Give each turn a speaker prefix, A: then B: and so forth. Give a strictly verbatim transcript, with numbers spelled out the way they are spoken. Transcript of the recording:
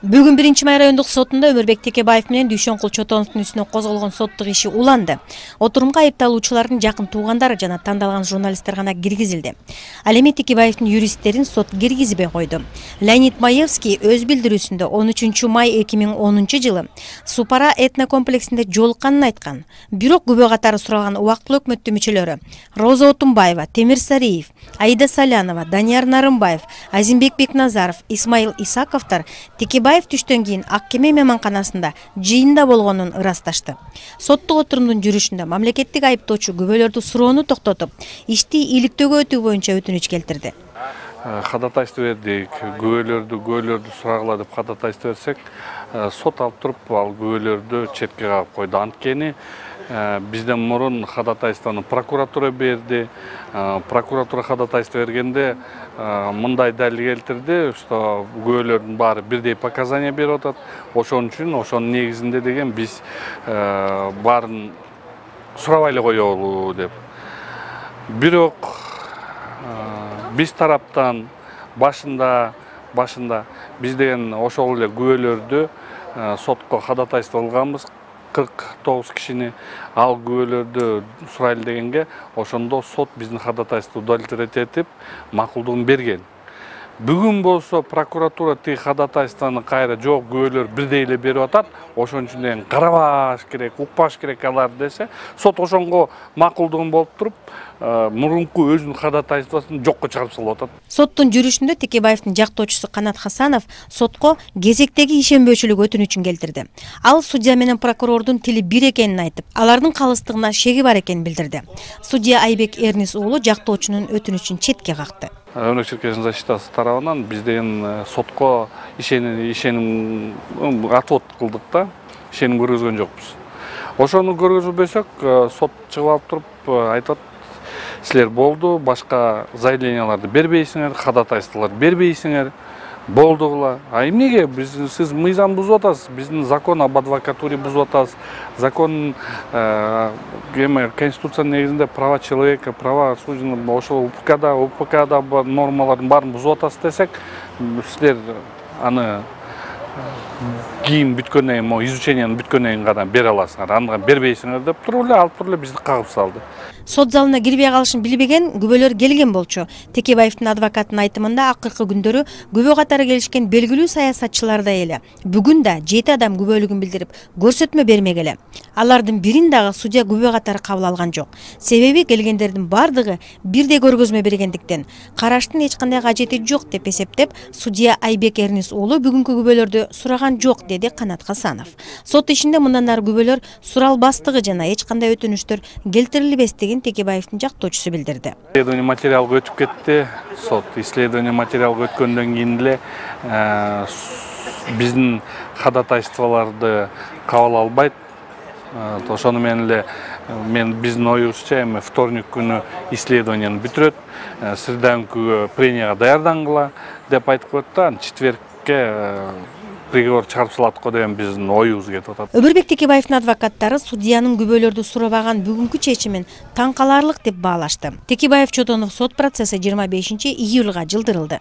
A: Бүгүн биринчи май райондук сотунда Өмүрбек Текебаев менен Дүйшөнкул Чотоновдун үстүнө козголгон соттук иши уланды. Отурумга айыпталуучулардын жакын туугандары жана тандалган журналисттер гана киргизилди. Ал эми Текебаевдин юристтерин сот киргизбей койду. Леонид Маевский өз билдирүүсүндө он үчүнчү май эки миң онунчу жылы Супара этнокомплексинде жолукканын айткан. Бирок күбө катары суралган убактылуу өкмөттүн мүчөлөрү Роза Отунбаева, Темир Сариев, Аида Салянова, Данияр Нарымбаев, Азимбек Бекназаров, Исмаил Исаковтар Текебаев түштөн кийин ак кеме мейманканасында жыйында болгонун ырасташты. Соттук отурумдун жүрүшүндө мамлекеттик айыптоочу күбөлөрдү суроону токтотуп, ишти иликтөөгө өтүү боюнча өтүнүч келтирди.
B: Кадатайсты бердик, күбөлөрдү күбөлөрдү сурагыла деп кадатайсты берсек, сот алып туруп ал күбөлөрдү четке кагып койду. Анткени бизден мурун кадатайствону прокуратура берди. Прокуратура кадатайсты бергенде мындай далил келтирди, что күбөлөрдүн баары бирдей показания берип атат. Ошон үчүн ошонун негизинде деген биз баарын сурабай эле коелу деп. Бирок биз тараптан башында башында биз деген ошол эле күбөлөрдү сотко кадатайсты алганбыз. кырк тогуз кишини ал күбөлөрдү сурайлы дегенге, ошондо сот биздин кадатайсты удовлетворить этип макулдугун берген. Бүгүн болсо прокуратура тиги кадатайствону кайра жок, күбөлөр бирдей эле берип атат. Ошон үчүн карабаш керек, укпаш керек алар десе, сот ошонго макулдугун болуп туруп, мурунку өзүнүн кадатайствосун жокко чыгарып салып атат.
A: Соттун жүрүшүндө Текебаевдин жактоочусу Канат Хасанов сотко кезектеги ишенбөөчүлүк өтүнүчүн келтирди. Ал судья менен прокурордун тили бир экенин айтып, алардын калыстыгына шеги бар экенин билдирди. Судья Айбек Эрнис уулу жактоочунун өтүнүчүн четке какты.
B: Өрнөк Черкесин защитасы тарабынан биз деген сотко ишеним ишеним отвод кылдык да, ишеним көргөзгөн жокпуз. Ошону көргөзбөсөк, сот чыгып алып туруп айтат: силер болду, башка заявленияларды бербейсиңер, кадатайстволор бербейсиңер. Болдугула. А эмнеге биз сиз мыйзам бузуп атасыз, биздин закон об адвокатуре бузуп атасыз, закон эме конституциянын негизинде права человека, права судьяны, ошол УПКда, УПКда нормалардын баарын бузуп атасыз десек, силер аны кийин бүткөндөн кийин, изучениянын бүткөндөн кийин гана бере аласыңар, аны бербейсиңер деп туруп эле алып туруп эле бизди кагып салды.
A: Сот залына кирбей калышын билбеген күбөлөр келген болчу. Текебаевдин адвокатынын айтымында акыркы күндөрү күбө катары келишкен белгилүү саясатчылардай эле бүгүн да жети адам күбөлүгүн билдирип көрсөтмө бермегеле. Алардын бирин дагы судья күбө катары кабыл алган жок. Себеби келгендердин бардыгы бирдей көргөзмө бергендиктен караштын эч кандай кажети жок деп эсептеп, судья Айбек Эрнис уулу бүгүнкү күбөлөрдү сураган жок, деди Канат Хасанов. Сот ишинде мындан ары күбөлөр суралбастыгы жана эч кандай өтүнүчтөр келтирилбестигин Текебаевдин жактоочусу билдирди.
B: Исследование материалга өтүп кетти. Сот исследование материалга өткөндөн кийин эле биздин кадатайстволорду кабыл албайт. Ошону менен эле мен биздин оюбузча эми вторник күнү исследованияны бүтүрөт, среда күнкү пренияга даярдангыла деп айтып коет. Четвергке приговор чыгарып салат го деген биздин оюбуз кетип атат.
A: Өмүрбек Текебаевдин адвокаттары судьянын күбөлөрдү сурабаган бүгүнкү чечимин таң каларлык деп баалашты. Текебаев Чотонов сот процесси жыйырма бешинчи июлга жылдырылды.